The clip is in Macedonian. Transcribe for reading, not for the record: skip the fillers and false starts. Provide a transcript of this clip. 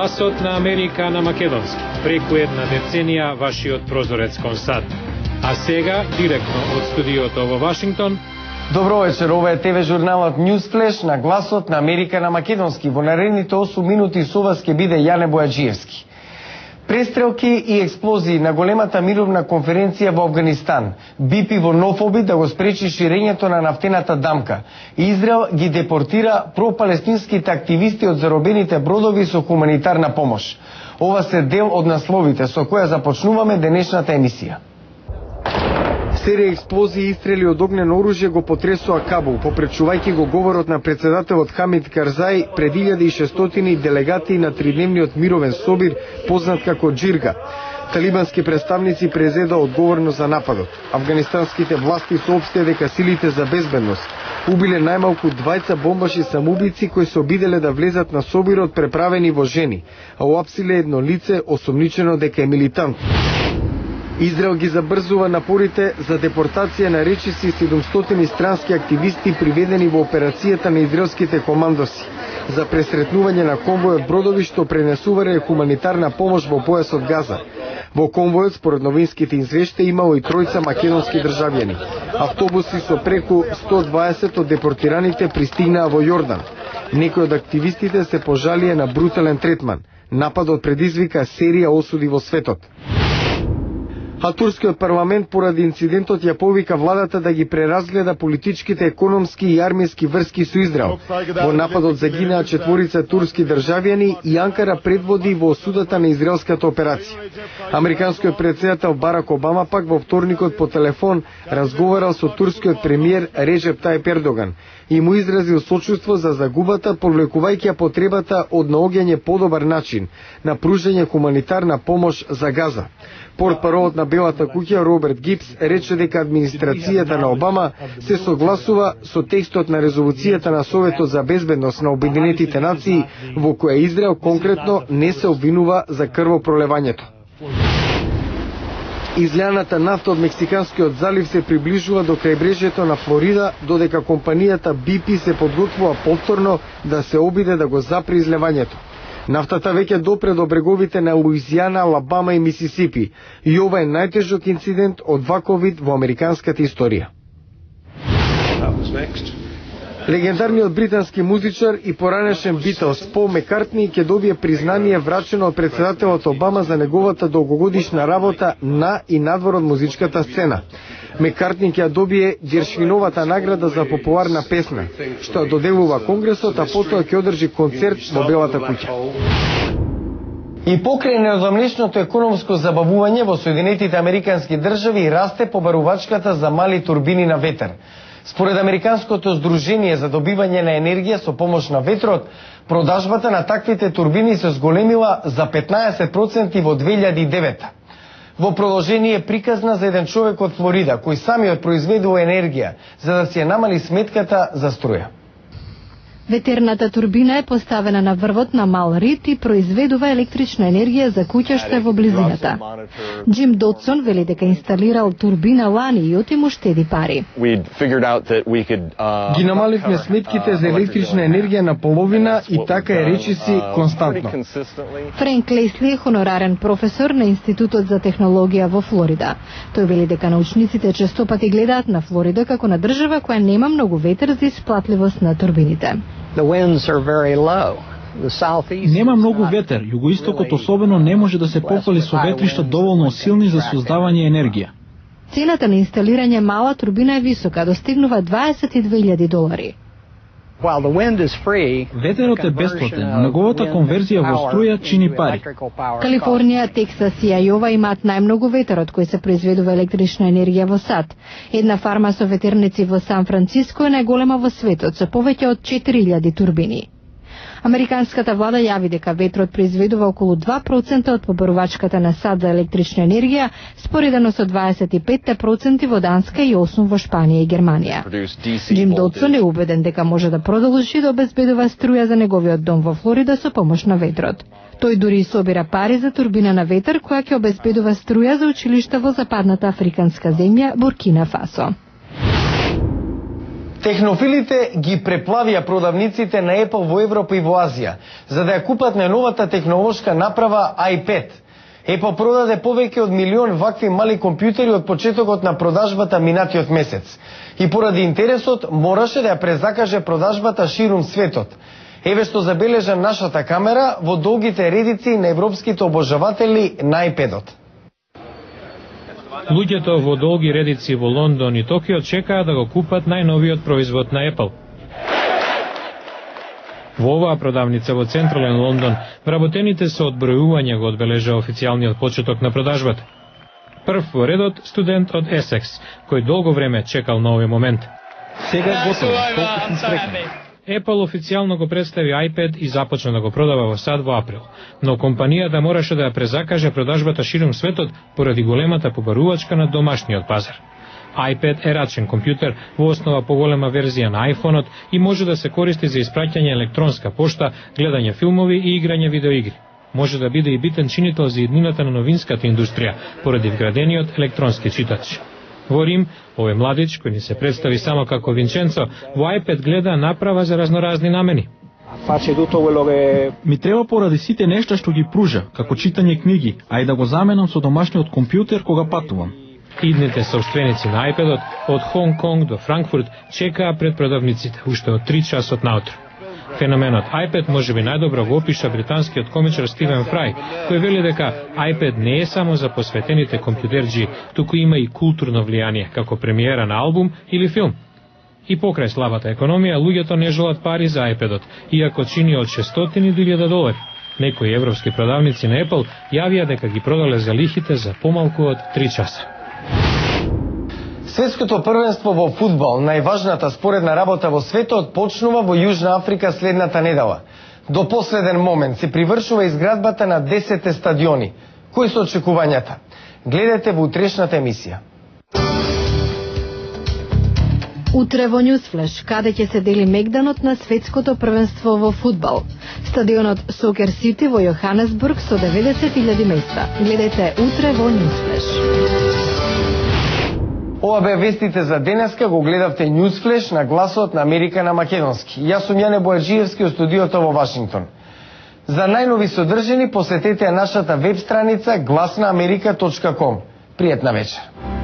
Гласот на Америка на македонски. Преку една деценија вашиот прозорец кон САД. А сега, директно од студиото во Вашингтон. Добро вечер, ова е ТВ журналот Ньюсфлеш на Гласот на Америка на македонски. Во наредните 8 минути со вас ќе биде Јане Бојаджиевски. Престрелки и експлозии на големата мировна конференција во Авганистан. БП во нов обид да го спречи ширењето на нафтената дамка. Израел ги депортира пропалестинските активисти од заробените бродови со хуманитарна помош. Ова се дел од насловите со која започнуваме денешната емисија. Серија експлозии и истрели од огнено оружје го потресоа Кабул, попречувајќи го говорот на председателот Хамид Карзај пред 1600 делегати на тридневниот мировен собир, познат како Джирга. Талибански представници презеда одговорност за нападот. Афганистанските власти соопштија дека силите за безбедност убиле најмалку 20 бомбаши самоубици кои се обиделе да влезат на собирот преправени во жени, а уапсиле едно лице осомничено дека е милитант. Израел ги забрзува напорите за депортација на речиси 700 странски активисти приведени во операцијата на израелските командоси за пресретнување на конвојот бродови што пренесувале хуманитарна помош во појасот Газа. Во конвојот, според новинските извештаи, имало и тројца македонски државјани. Автобуси со преку 120 од депортираните пристигнаа во Јордан. Некои од активистите се пожалија на брутален третман. Нападот предизвика серија осуди во светот. А турскиот парламент поради инцидентот ја повика владата да ги преразгледа политичките, економски и армијски врски со Израел. Во нападот загинаа 4 турски државјани и Анкара предводи во осудата на израелската операција. Американскиот претседател Барак Обама пак во вторникот по телефон разговарал со турскиот премиер Реджеп Тајип Ердоган и му изразил сочувство за загубата, повлекувајќи ја потребата од наоѓање подобар начин на пружање хуманитарна помош за Газа. Портпаролот на Белата куќа Роберт Гипс рече дека администрацијата на Обама се согласува со текстот на резолуцијата на Советот за безбедност на Обединетите нации во која Израел конкретно не се обвинува за крвопролевањето. Излеаната нафта од Мексиканскиот залив се приближува до крајбрежјето на Флорида, додека компанијата BP се подготвува повторно да се обиде да го запре излевањето. Нафтата веќе допре до бреговите на Луизијана, Алабама и Мисисипи и ова е најтежок инцидент од ваков вид во американската историја. Легендарниот британски музичар и поранешен Битълс Пол Маккартни ќе добие признание врачено од председателот Обама за неговата долгогодишна работа на и надвор од музичката сцена. Маккартни ќе добие Гершвиновата награда за популарна песна, што доделува Конгресот, а потоа ќе одржи концерт во Белата куќа. И покрај неодамнешното економско забавување во Соединетите Американски држави расте побарувачката за мали турбини на ветер. Според Американското здружение за добивање на енергија со помош на ветрот, продажбата на таквите турбини се зголемила за 15% во 2009. Во продолжение е приказна за еден човек од Флорида, кој самиот произведува енергија, за да си ја намали сметката за струја. Ветерната турбина е поставена на врвот на мал рид и произведува електрична енергија за куќа што е во близината. Джим Додсон вели дека инсталирал турбина лани и отиму штеди пари. Ги намаливме сметките за електрична енергија на половина и така е речиси константно. Френк Лесли е хонорарен професор на Институтот за технологија во Флорида. Тој вели дека научниците честопати гледаат на Флорида како на држава која нема многу ветер за исплатливост на турбините. Нема многу ветер, југоистокот особено не може да се пофали со ветришта доволно силни за создавање енергија. Цената на инсталирање мала турбина е висока, достигнува $22,000. Ветерот е бесплатен, но неговата конверзија во струја чини пари. Калифорнија, Тексас и Ајова имаат најмногу ветер од кој се произведува електрична енергија во САД. Една фарма со ветерници во Сан Франциско е најголема во светот, со повеќе од 4000 турбини. Американската влада јави дека ветрот произведува околу 2% од побарувачката на САД за електрична енергија, споредено со 25% во Данска и 8% во Шпанија и Германија. Джим Додсон е убеден дека може да продолжи да обезбедува струја за неговиот дом во Флорида со помош на ветрот. Тој дури собира пари за турбина на ветер која ќе обезбедува струја за училишта во западната африканска земја Буркина Фасо. Технофилите ги преплавија продавниците на Apple во Европа и во Азија, за да ја купат најновата технолошка направа iPad. Apple продаде повеќе од 1 милион вакви мали компјутери од почетокот на продажбата минатиот месец. И поради интересот мораше да ја презакаже продажбата ширум светот. Еве што забележа нашата камера во долгите редици на европските обожаватели на iPad-от. Луѓето во долги редици во Лондон и Токио чекаат да го купат најновиот производ на Apple. Во оваа продавница во централен Лондон, вработените со одбројување го одбележа официјалниот почеток на продажбата. Прв во редот студент од Есекс, кој долго време чекал на овој момент. Сега е готово, толку сум среќен. Apple официјално го представи iPad и започна да го продава во САД во април, но компанијата мораше да ја презакаже продажбата ширум светот поради големата побарувачка на домашниот пазар. iPad е рачен компјутер во основа поголема верзија на iPhone-от и може да се користи за испраќање електронска пошта, гледање филмови и играње видеоигри. Може да биде и битен чинител за иднината на новинската индустрија поради вградениот електронски читач. Во Рим, овој младич, кој ни се представи само како Винченцо, во iPad гледа направа за разноразни намени. Ми треба поради сите нешта што ги пружа, како читање книги, а и да го заменам со домашниот компјутер кога патувам. Идните собственици на iPad-от од Хонг Конг до Франкфурт чекаа пред продавниците уште од 3 часот наутро. Феноменот iPad може би најдобро го опиша британскиот комичар Стивен Фрај, кој вели дека iPad не е само за посветените компјутерџи, туку има и културно влијание, како премиера на албум или филм. И покрај слабата економија, луѓето не желат пари за iPad-от, иако чини од 600 до $1000. Некои европски продавници на Apple јавија дека ги продале за лихите за помалку од 3 часа. Светското првенство во фудбал, најважната споредна работа во светот, почнува во Јужна Африка следната недела. До последен момент се привршува изградбата на 10 стадиони. Кои се очекувањата? Гледате во утрешната емисија. Утре во Ньюсфлеш, каде ќе се дели мегданот на светското првенство во фудбал. Стадионот Сокер Сити во Јоханесбург со 90.000 места. Гледате утре во Ньюсфлеш. Ова бе вестите за денеска, го гледавте Newsflash на гласот на Америка на македонски. Јас сум Јане Бојаджиевски од студиото во Вашингтон. За најнови содржини посетете нашата веб страница glasnaamerika.com. Пријатна вечер.